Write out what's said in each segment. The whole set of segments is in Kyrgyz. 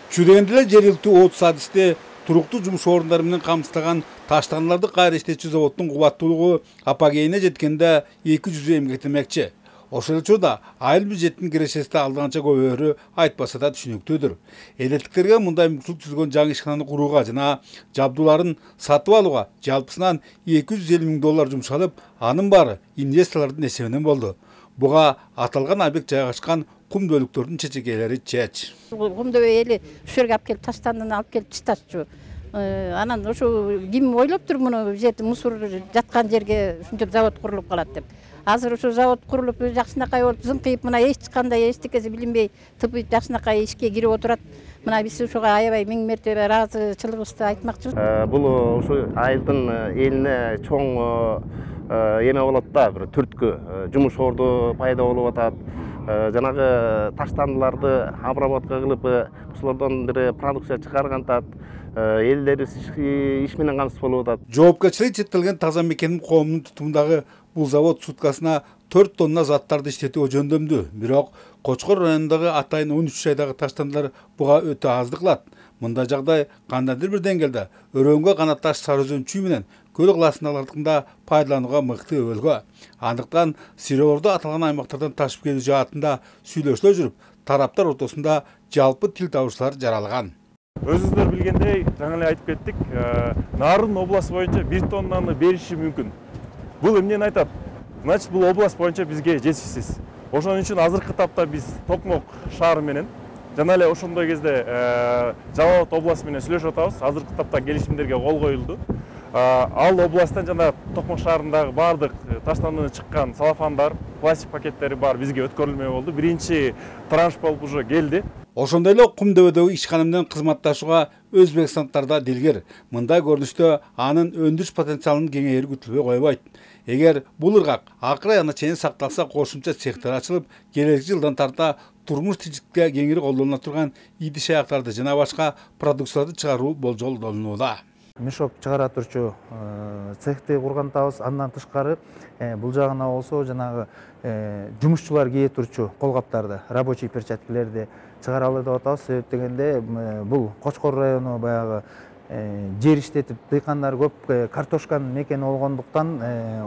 Чүрегенде эле жергиликтүү отуз адисте туруктуу жумуш орундары менен камсыздаган таштандыларды кайра иштетүүчү заводдун кубаттуулугу апогейине жеткенде 200 эмгектенмекчи. Ошол учурда айыл бюджеттин кирешеси алдыганча көбөйөрү айтпаса да түшүнүктүүдүр. Электиктерге мындай мүмкүнчүлүк түзгөн жаңы ишкананы курууга жана жабдууларын сатып алууга жалпысынан $250,000 жумшалып, анын баары инвесторлордун эсебинен болду. Буга аталган объект жайгашкан кум дөөлүктөрдүн чечекейлери чеч. Кум дөбөй эли ушул жерге алып келип таштандыны алып келип таштачу. Анан ошо ким ойлоптур муну жет мусор жаткан жерге ушунчалык завод курулуп калат деп. Азыр ошо завод курулуп жакшынакай болуп зыңкыйып, мына эч кандай эчтекеси билинбей тыпып жакшынакай ишке кирип отурат. Мына биз ошого аябай миң мертебе ыраазычылыгыбызды айтмакчыбыз. Бул ошо айылдын элине чоң эме болот да, бир түрткү жумуш орду пайда болуп атат. Жанагы таштандыларды обработка кылып, ошолордон бир продукция чыгаргантат, элдерибиз иш менен камсыз болуп атат. Жоопкерчилиги чектелген таза мекеним коомунун тутумундагы бул завод суткасына 4 тонна заттарды иштетүүгө жөндөмдүү. Бирок Кочкор районундагы атайын 13 жайдагы таштандылар буга өтө азды кылат. Мындай жагдай кандайдыр бир деңгээлде өрөнгө гана таш сары чүй менен көл кылаасындагылардыкында пайдаланууга мыкты өбөлгө. Андыктан сыйроолорду аталган аймактардан ташып келүү жаатында сүйлөшүлө жүрүп, тараптар ортосунда жалпы тил табышуулар жаралган. Өзүңүздөр билгендей, жаңы эле айтып кеттик, Нарын областы боюнча 1 тоннаны бериши мүмкүн. Бул эмнени айтат? Значит, бул область боюнча бизге жетишсиз. Ошон үчүн азыркы тапта биз Токмок шаары менен жана эле ошондой кезде Жалал Абад областы менен сүйлөшүп атабыз. Азыркы тапта келишимдерге кол коюлду. Ал областтан жана Токмок шаарындагы баардык таштандыны чыккан салафандар, пластик пакеттери бар бизге өткөрүлмөй болду. Биринчи транш болуп уже келди. Ошондой эле кум дөбөдөгү ишкана менен кызматташууга өзбекстандыктар да дилгер. Мындай көрүнүштө анын өндүрүш потенциалынын кеңейери күтүлбөй койбойт. Эгер бул ыргак акыр аягына чейин сакталса, кошумча цехтер ачылып, келеки жылдан тарта турмуш тижиктикке кеңири колдонула турган идиш аяктарды жана башка продукцияларды чыгаруу болжолдонууда. Мешок чыгара турчу цехти кургантабыз. Андан тышкары бул жагына болсо жанагы жумушчулар кие турчу колгаптарды, рабочий перчаткилерди чыгаралы деп атабыз. Себеп дегенде бул Кочкор району баягы жер иштетип дыйкандар көп, картошканын мекени болгондуктан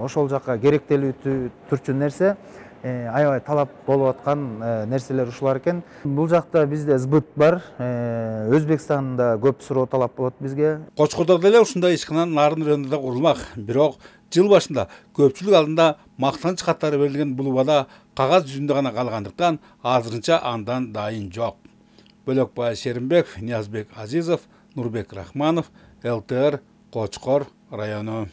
ошол жакка керектелүү турчу нерсе, аябай талап болуп аткан нерселер ушулар экен. Бул жакта бизде сбыт бар, Өзбекстанда көп суроо талап болот бизге. Кочкордо деле ушундай ишкана Нарын районунда курулмак. Бирок жыл башында көпчүлүк алдында мактаныч каттары берилген бул убада кагаз жүзүндө гана калгандыктан азырынча андан дайын жок. Бөлөкбай Шеримбеков, Ниязбек Азизов, Нурбек Рахманов, ЛТР, Кочкор району.